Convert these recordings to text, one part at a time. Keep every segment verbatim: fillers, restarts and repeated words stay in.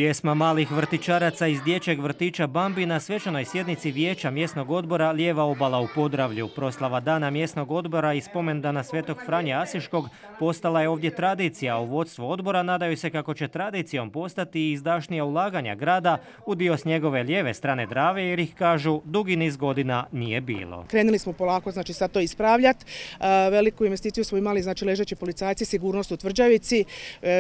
Pjesma malih vrtićaraca iz dječjeg vrtića Bambi na svečanoj sjednici Vijeća mjesnog odbora Lijeva obala u Podravlju. Proslava dana mjesnog odbora i spomendana Svetog Franje Asiškog postala je ovdje tradicija. U vodstvu odbora nadaju se kako će tradicijom postati i izdašnija ulaganja grada u dio s njegove lijeve strane Drave, jer ih, kažu, dugi niz godina nije bilo. Krenuli smo polako, znači sad to ispravljati. Veliku investiciju smo imali, znači ležeći policajci, sigurnost u Tvrđavici,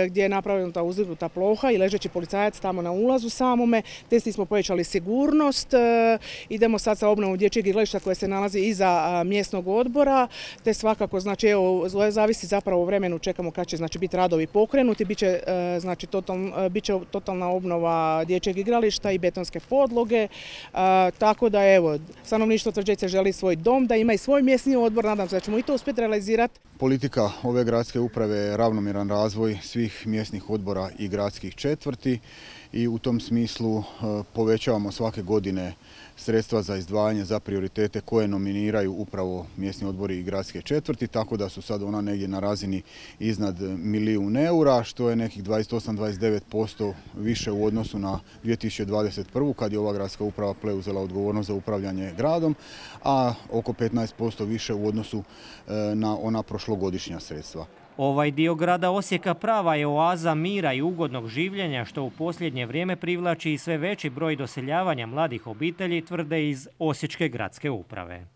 gdje je napravljena ta uzdignuta ploha i ležeći policajac tamo na ulazu samome. Testi smo povećali sigurnost. Idemo sad sa obnovom dječjeg igrališta koje se nalazi iza mjesnog odbora, te svakako, znači, evo, zavisi zapravo o vremenu, čekamo kad će, znači, biti radovi pokrenuti, biće, znači, total, biće totalna obnova dječjeg igrališta i betonske podloge, tako da, evo, stanovništvo Tvrđavice želi svoj dom, da ima i svoj mjesni odbor, nadam se da ćemo i to uspjeti realizirati. Politika ove gradske uprave je ravnomjeran razvoj svih mjesnih odbora i gradskih četvrti i u tom smislu povećavamo svake godine sredstva za izdvajanje za prioritete koje nominiraju upravo mjesni odbori i gradske četvrti, tako da su sad ona negdje na razini iznad milijun eura, što je nekih dvadeset osam do dvadeset devet posto više u odnosu na dvije tisuće dvadeset prvu. kad je ova gradska uprava preuzela odgovornost za upravljanje gradom, a oko petnaest posto više u odnosu na ona prošlogodišnja sredstva. Ovaj dio grada Osijeka prava je oaza mira i ugodnog življenja, što u posljednje vrijeme privlači i sve veći broj doseljavanja mladih obitelji, tvrde iz Osječke gradske uprave.